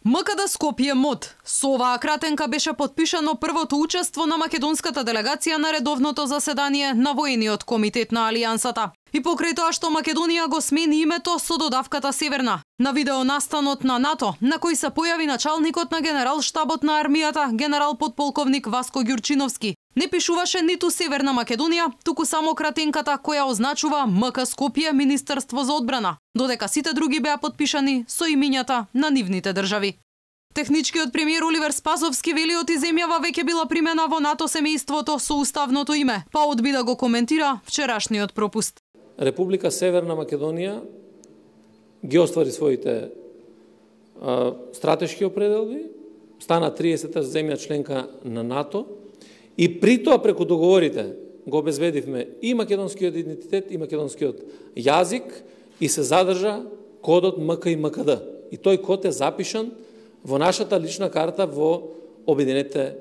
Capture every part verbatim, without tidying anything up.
МКД Скопје МОД. Со оваа кратенка беше подпишано првото учество на македонската делегација на редовното заседание на воениот комитет на Алијансата. И покрај тоа што Македонија го смени името со додавката Северна. На видео настанот на НАТО, на кој се појави началникот на генерал-штабот на армијата, генерал подполковник Васко Ѓурчиновски, не пишуваше ниту Северна Македонија, туку само кратенката која означува МК Скопје Министерство за одбрана, додека сите други беа подпишани со имињата на нивните држави. Техничкиот премиер Оливер Спасовски вели оти земјава веќе била примена во НАТО семејството со уставното име, па одби да го коментира вчерашниот пропуст. Република Северна Македонија ги оствари своите а, стратешки определби, стана триесета земја членка на НАТО и при тоа преку договорите го обезбедивме и македонскиот идентитет и македонскиот јазик и се задржа кодот МК и МКД. И тој код е запишан во нашата лична карта во Обединетите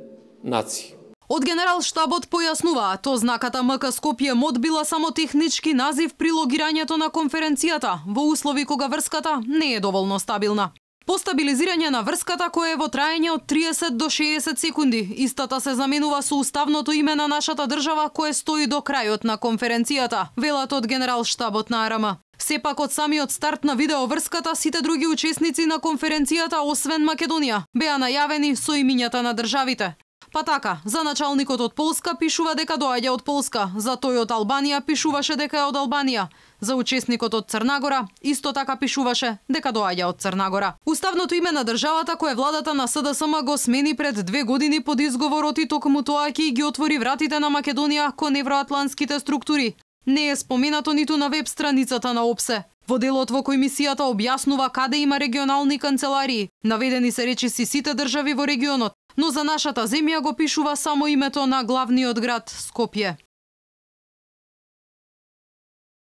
нации. Од генерал-штабот појаснуваа, то знаката МК Скопје МОД била само технички назив при логирањето на конференцијата, во услови кога врската не е доволно стабилна. По стабилизирање на врската, која е во траење од триесет до шеесет секунди, истата се заменува со уставното име на нашата држава кое стои до крајот на конференцијата, велат од генерал-штабот на АРМ. Сепак од самиот старт на видеоврската, сите други учесници на конференцијата, освен Македонија, беа најавени со имињата на државите. Па така, за началникот од Полска пишува дека доаѓа од Полска, за тој од Албанија пишуваше дека е од Албанија, за учесникот од Црнагора исто така пишуваше дека доаѓа од Црнагора. Уставното име на државата кое владата на СДСМ го смени пред две години под изговорот и токму тоа ќе ги отвори вратите на Македонија кон евроатлантските структури, не е споменато ниту на веб страницата на ОПСЕ. Во делот во кој мисијата објаснува каде има регионални канцеларии, наведени се речиси сите држави во регионот, но за нашата земја го пишува само името на главниот град Скопје.